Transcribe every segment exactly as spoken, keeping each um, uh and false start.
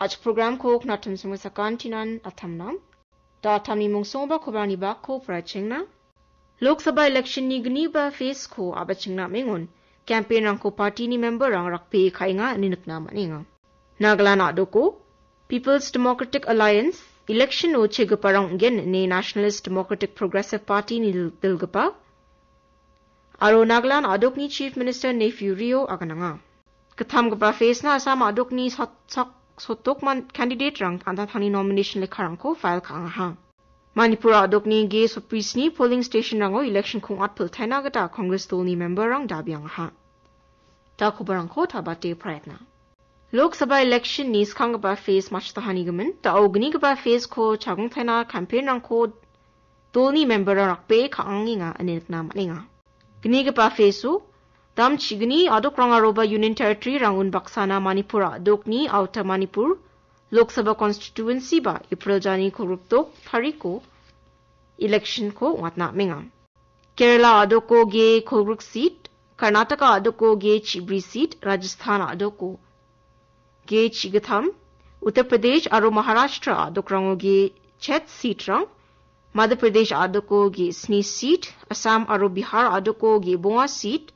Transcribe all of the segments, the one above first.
Achi programko knatim songsakantinan atamnam. Da atamni mungsongba kobarani bakko parachengna. Lok Sabha election-ni gniba phase-ko abachengna amengon campaign-rangko party-ni member-rang rakbee ka·enga ine nikna man·enga. Nagaland a·doko People's Democratic Alliance election-o chegiparang ong·gen ine Nationalist Democratic Progressive Party-ni dil-, dilgipa aro Nagaland a·dokni Chief Minister Neiphiu Rio agananga. Gittamgipa phase-na Assam a·dokni sot-, sak-, sotok man-, candidate-rang an·tangtangni nomination lekkarangko file ka·angaha. Manipur a·dokni ge sotbrisni polling station-rango election-ko ong·atpiltaina gita Congress dolni member-rang dabiangaha. Da kobarangko tabate praetna. Lok Sabha election-ni skanggipa phase matchotahanigimin, da·o gnigipa phase-ko chagongtaina campaign-rangko dolni member-rang rakbee ka·angenga ine nikna man·enga. Gnigipa phase-o, dam chigni a·dokrangaroba Union Territory-rang unbaksana Manipur a·dokni Outer Manipur, Lok Sabha constituency-ba April jani kolgrikdok tariko election-ko ong·atna amenga. Kerala a·doko ge kolgrik seat, Karnataka a·doko ge chibri seat, Rajasthan a·doko ge chigittam, Uttar Pradesh aro Maharashtra a·dokrango ge chet seat-rang, Madhya Pradesh a·doko ge sni seat, Assam aro Bihar a·doko ge bonga seat,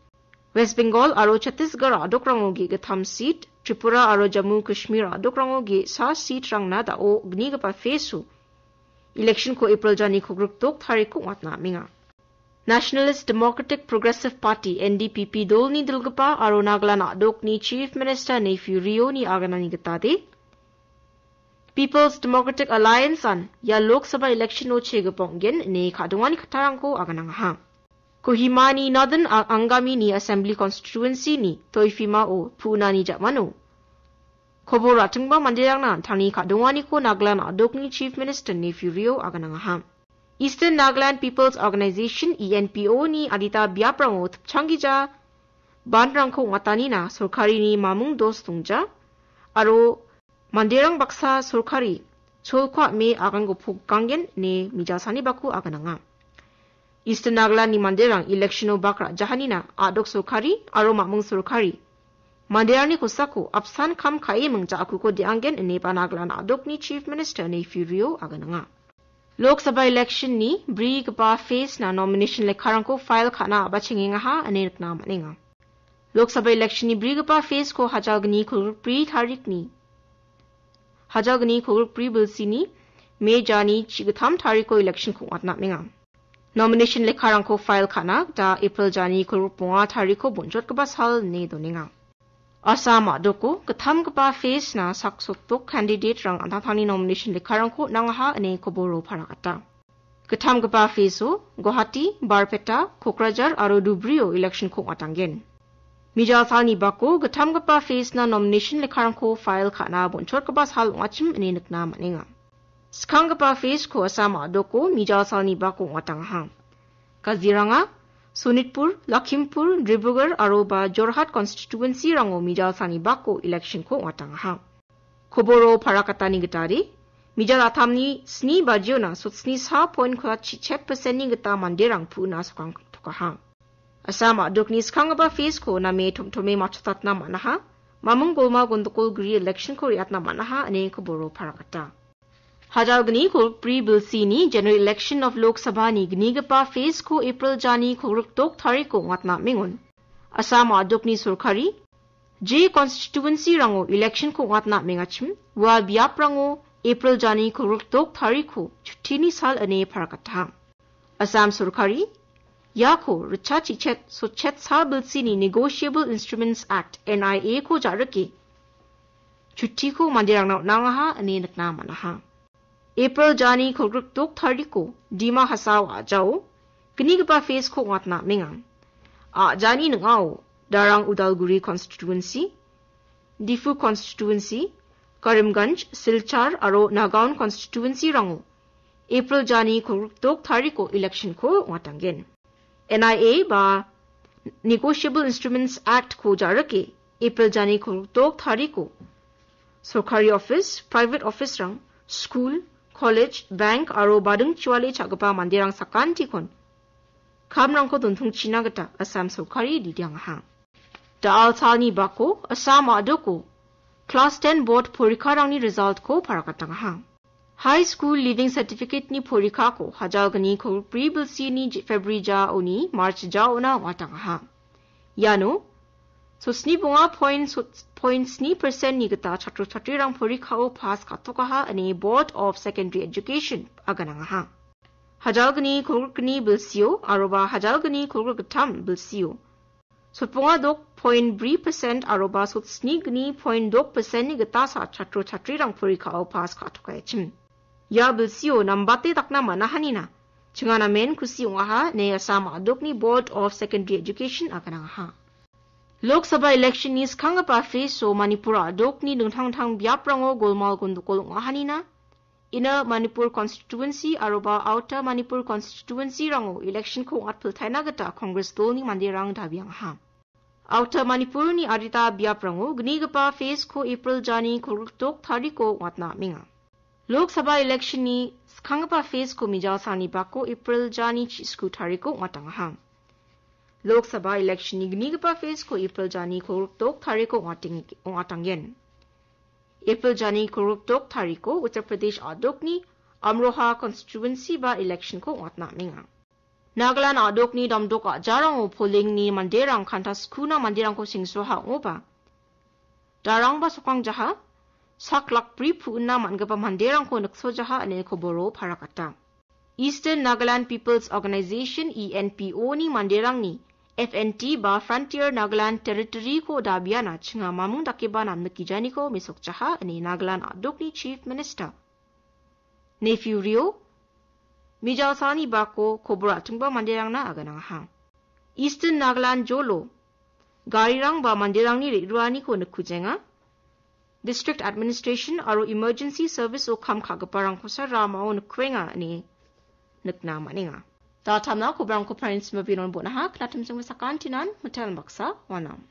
West Bengal aro Chhattisgarh a·dokrango ge gittam seat, Tripura aro Jammu Kashmir a·dokrango ge sa seat-rangna da·o gnigipa phase-o election-ko April jani kolgrikdok tariko ong·atna amenga. Nationalist Democratic Progressive Party, N D P P, dolni dilgipa aro Nagaland a·dokni Chief Minister Neiphiu Rio-ni aganani gitade, People's Democratic Alliance-an ia Lok Sabha election-o chegipa ong·gen ine ka·dongani kattarangko aganangaha. Kohimani Northern A-, Angami-ni Assembly Constituency-ni Toifima-o pu·nani ja·mano kobor ra·tingba manderangna an·tangni ka·donganiko Nagaland a·dokni Chief Minister Neiphiu Rio aganangaha. Eastern Nagaland People's Organization, E N P O-ni adita biaprango tipchanggija bandrangko ong·atanina sorkarini mamung dos dongja aro manderang baksa sorkari cholko ame aganko poganggen ine mijalsalni bako agananga. Eastern Nagaland-ni manderang election-o bak ra·jahanina a·dok sorkari aro mamung sorkari manderangni kosako apsan kam ka·e mingja·akuko de·anggen ine ba Nagaland a·dokni Chief Minister Neiphiu Rio agananga. Lok Sabha election-ni brigipa phase-na nomination lekkarangko file ka·na a·bachengengaha ine nikna man·enga. Lok Sabha election-ni brigipa phase-ko hajalgni kolgrikbri tarikni, hajalgni kolgrikbri bilsini May jani chigittam tariko election-ko ong·atna amenga. Nomination lekkarangko file ka·na gita April jani kolgrikbonga tariko bonchotgipa sal ine donenga. Assam a·doko gittamgipa phase-na saksotok candidate-rang an·tangtangni nomination lekkarangko on·angaha ine koboro paragata. Gittamgipa phase-o Guwahati, Barpeta, Kokrajhar aro Dhubri-o election-ko ong·atanggen. Mijalsalni bako gittamgipa phase-na nomination lekkarangko file ka·na bonchotgipa sal ong·achim ine nikna man·enga. Skanggipa phase-ko Assam a·doko mijalsalni bako ong·atangaha. Kaziranga, Sonitpur, Lakhimpur, Dibrugarh aro ba Jorhat constituency-rango mijalsalni bako election-ko ong·atangaha. Koboro parakatani gitade, mijal atamni sni bajiona sotsni sa point kolgrik chichet percent-ni gita manderang pu·na sokangtokaha. Assam a·dokni skanggipa phase-ko name tomtome matchotatna man·aha, mamung golma gondokol gri election-ko re·atna man·aha ine koboro parakata. Hajalgni kolgrikbri bilsini General Election of Lok Sabha-ni gnigipa phase-ko April jani kolgrikdok tariko ong·atna amengon. Assam a·dokni sorkari je constituency-rango election-ko ong·atna amengachim, ua biaprango April jani kolgrikdok tariko chuttini sal ine parakataha. Assam sorkari iako ritchachichet sotchet sa bilsini Negotiable Instruments Act, N I A-ko ja·rike chuttiko manderangna on·angaha ine nikna man·aha. April jani kolgrikdok tariko Dima Hasao a·jao gnigipa phase-ko ong·atna amenga. A·jani ning·ao Darrang Udalguri constituency, Diphu constituency, Karimganj, Silchar aro Nagaon constituency-rango April jani kolgrikdok tariko election-ko ong·atanggen. N I A ba Negotiable Instruments Act-ko ja·rike April jani kolgrikdok tariko sorkari office, private office-rang, school, college, bank aro bading chiwale cha·gipa manderang sakantikon kamrangko dontongchina gita Assam sorkari didiangaha. Da·al salni bako Assam a·doko Klas ten board porikarangni resultko parakatangaha. High School Leaving Certificate-ni porikako hajalgni kolgni bilsini February jaoni March jaona ong·atangaha. Iano sotni bonga point sni percent-ni gita chatro chatrirang porikao pass ka·tokaha ine Board of Secondary Education aganangaha. Hajalgni kolgni bilsio aroba hajalgni kolgni gittam bilsio sotbonga dok point bri percent aroba sotni gni point dok percent-ni gitasa chatro chatrirang porikao pass ka·tokaichim. Ia bilsio nambate dakna man·ahanina, chingana men kusi ong·aha, ine Assam a·dokni Board of Secondary Education aganangaha. Lok Sabha election-ni skanggipa phase-o Manipur a·dokni dingtang dingtang biaprango golmal gondokol ong·ahanina, ina Manipur constituency aroba Outer Manipur constituency-rango election-ko ong·atpiltaina gita Congress dolni manderang dabiangaha. Outer Manipurni adita biaprango gnigipa phase-ko April jani kolgrik dok tariko ong·atna amenga. Lok Sabha election-ni skanggipa phase-ko mijalsani bako April jani chisku tariko ong·atangaha. Lok Sabha election-ni gnigipa phase-ko April jani kolgrik dok tariko ong·ateng-, ong·atanggen. April jani kolgrik dok tariko Uttar Pradesh a·dokni Amroha constituency ba election-ko ong·atna amenga. Nagaland a·dokni damdok a·jarango polling-ni manderang kanta skuna manderangko sengsoha ong·oba, darangba sokangjaha, sak lak bri pu·na man·gipa manderangko niksojaha ine koboro parakata. Eastern Nagaland People's Organization, E N P O-ni manderangni F N T ba Frontier Nagaland Territory-ko dabiana chinga mamung dakeba namnikijaniko mesokjaha ine Nagaland a·dokni Chief Minister Neiphiu Rio mijalsani bako kobor a·tingba manderangna aganangaha. Eastern Nagaland jolo garirang ba manderangni re·ruaniko nikkujenga. District Administration aro Emergency Service-o kam ka·giparangkosa ramao nikkuenga ine nikna man·enga. Datamna kobrangko parentsima binon bonaha, knatimsingba sakantinan, mitel baksa, wanam.